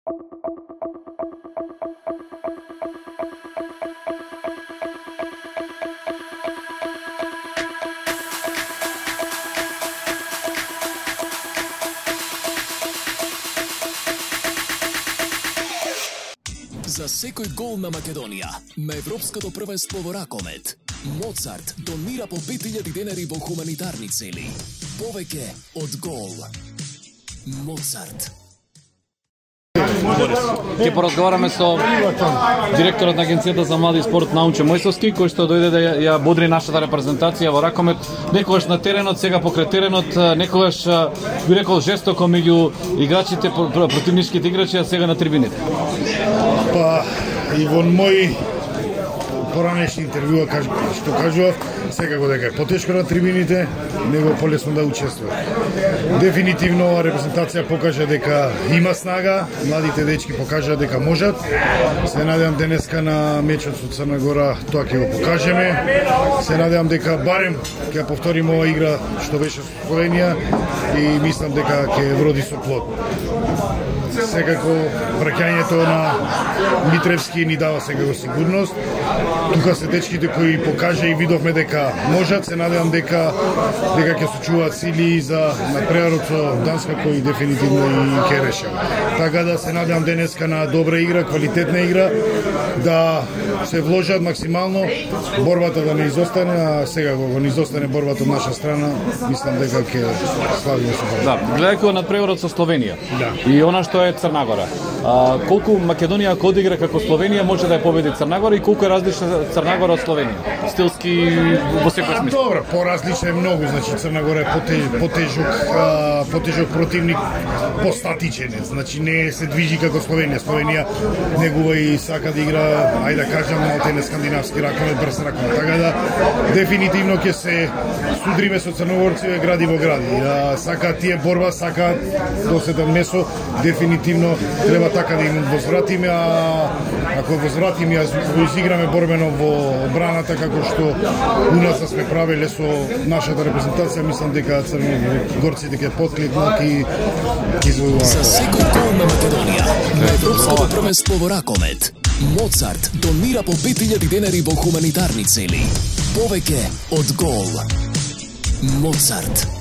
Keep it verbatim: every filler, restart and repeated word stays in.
За секој гол на Македонија на Европското првенство во ракомет, Моцарт донира по пет илјади денари во хуманитарни цели. Повеќе од гол. Моцарт. Ќе поразговараме со директорот на Агенцијата за млади и спорт Наумче Мојсовски, кој што дојде да ја бодри нашата репрезентација во ракомет, некогаш на теренот, сега покрај теренот, некогаш би рекол жестоко меѓу играчите, противничките играчи, а сега на трибините. Па и во мој поранешни интервјуа што кажував, секако дека е потешко на трибините, него полесно да учествува. Дефинитивно ова репрезентација покажа дека има снага, младите дечки покажа дека можат. Се надевам денеска на мечот со Црна Гора тоа ќе го покажеме. Се надевам дека барем ќе повториме ова игра што беше со Словенија и мислам дека ќе вроди со плод. Секако враќањето на Митревски ни дава секако сигурност. Тука се дечките кои покажа и видовме дека можат. Се надевам дека дека ќе сочуваат сили за надпреварот со Данска кој дефинитивно и ќе решава. Така да се надевам денеска на добра игра, квалитетна игра, да се вложат максимално, борбата да не изостане, а сега го не изостане борбата од наша страна, мислам дека ќе славиме со борба. Да, гледајќи надпреварот со Словенија. Да. И она што е Црна Гора. А, колку Македонија ако одигра како Словенија може да ја победи Црна Гора и колку е различна Црна Гора од Словенија? Стилски во секој смисла. Добро, поразлична е многу, значи Црна Гора е потеж, потежок, а, потежок противник, постатичен е, значи не се движи како Словенија. Словенија негува и сака да игра, ајде да кажам, малте скандинавски ракомет, брз ракомет. Така да дефинитивно ќе се судриме со црногорци гради во гради. А, сака тие борба, сака доседен месо, дефинитивно треба така да им возвратиме, а ако возвратиме, а го изиграме борбено во одбраната како што у нас сме правеле со нашата репрезентација, мислам дека црногорците ќе поткликнат и извојуваат. За секој гол на Македонија на Европското првенство во ракомет, Моцарт донира по пет илјади денари во хуманитарни цели. Повеќе од гол. Моцарт.